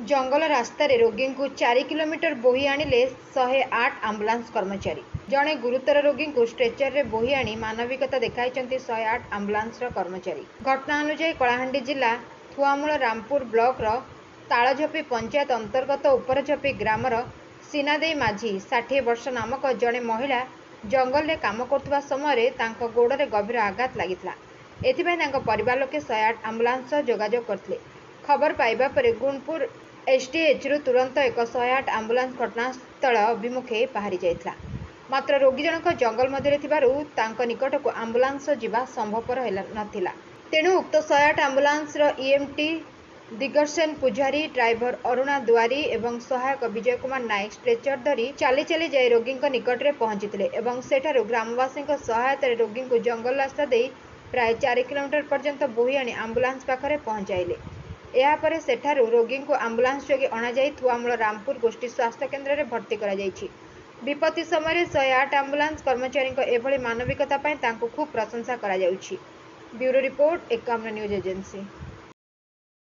ଜଙ୍ଗଲ ରାସ୍ତାରେ ରୋଗୀଙ୍କୁ 4 କିଲୋମିଟର ବୋହି ଆଣିଲେ 108 ଆମ୍ବୁଲାନ୍ସ କର୍ମଚାରୀ। ଜଣେ ଗୁରୁତର ରୋଗୀଙ୍କୁ ଷ୍ଟ୍ରେଚରରେ ବୋହି ଆଣି ମାନବିକତା ଦେଖାଇଛନ୍ତି 108 ଆମ୍ବୁଲାନ୍ସର କର୍ମଚାରୀ। ଘଟଣା ଅନୁଯାୟୀ, କଳାହାଣ୍ଡି ଜିଲ୍ଲା ଥୁଆମୂଳ ରାମପୁର ବ୍ଲକର ତାଳଝପି ପଞ୍ଚାୟତ ଅନ୍ତର୍ଗତ ଉପରଝପି ଗ୍ରାମର ସିନାଦେଇ ମାଝୀ 60 ବର୍ଷ ନାମକ ଜଣେ ମହିଳା ଜଙ୍ଗଲରେ କାମ କରୁଥିବା ସମୟରେ ତାଙ୍କ ଗୋଡ଼ରେ ଗଭୀର ଆଘାତ ଲାଗିଥିଲା। ଏଥିପାଇଁ ତାଙ୍କ ପରିବାର ଲୋକେ 108 ଆମ୍ବୁଲାନ୍ସ ସହ ଯୋଗାଯୋଗ କରିଥିଲେ। ଖବର ପାଇବା ପରେ ଗୁଣପୁର ଏସ୍ଡିଏଚ୍ରୁ ତୁରନ୍ତ ଏକ 108 ଆମ୍ବୁଲାନ୍ସ ଘଟଣାସ୍ଥଳ ଅଭିମୁଖେ ବାହାରି ଯାଇଥିଲା। ମାତ୍ର ରୋଗୀ ଜଣକ ଜଙ୍ଗଲ ମଧ୍ୟରେ ଥିବାରୁ ତାଙ୍କ ନିକଟକୁ ଆମ୍ବୁଲାନ୍ସ ଯିବା ସମ୍ଭବପର ନଥିଲା। ତେଣୁ ଉକ୍ତ 108 ଆମ୍ବୁଲାନ୍ସର ଇଏମ୍ଟି ଦିଗର୍ସେନ ପୂଜାରୀ, ଡ୍ରାଇଭର ଅରୁଣା ଦୁଆରୀ ଏବଂ ସହାୟକ ବିଜୟ କୁମାର ନାୟକ ଷ୍ଟ୍ରେଚର ଧରି ଚାଲି ଚାଲି ଯାଇ ରୋଗୀଙ୍କ ନିକଟରେ ପହଞ୍ଚିଥିଲେ ଏବଂ ସେଠାରୁ ଗ୍ରାମବାସୀଙ୍କ ସହାୟତାରେ ରୋଗୀଙ୍କୁ ଜଙ୍ଗଲ ରାସ୍ତା ଦେଇ ପ୍ରାୟ 4 କିଲୋମିଟର ପର୍ଯ୍ୟନ୍ତ ବୋହି ଆଣି ଆମ୍ବୁଲାନ୍ସ ପାଖରେ ପହଞ୍ଚାଇଲେ। ଏହାପରେ ସେଠାରୁ ରୋଗୀଙ୍କୁ ଆମ୍ବୁଲାନ୍ସ ଯୋଗେ ଅଣାଯାଇ ଥୁଆମୂଳ ରାମପୁର ଗୋଷ୍ଠୀ ସ୍ୱାସ୍ଥ୍ୟ କେନ୍ଦ୍ରରେ ଭର୍ତ୍ତି କରାଯାଇଛି। ବିପତ୍ତି ସମୟରେ 108 ଆମ୍ବୁଲାନ୍ସ କର୍ମଚାରୀଙ୍କ ଏଭଳି ମାନବିକତା ପାଇଁ ତାଙ୍କୁ ଖୁବ୍ ପ୍ରଶଂସା କରାଯାଉଛି। Bureau report, Ekamra news agency.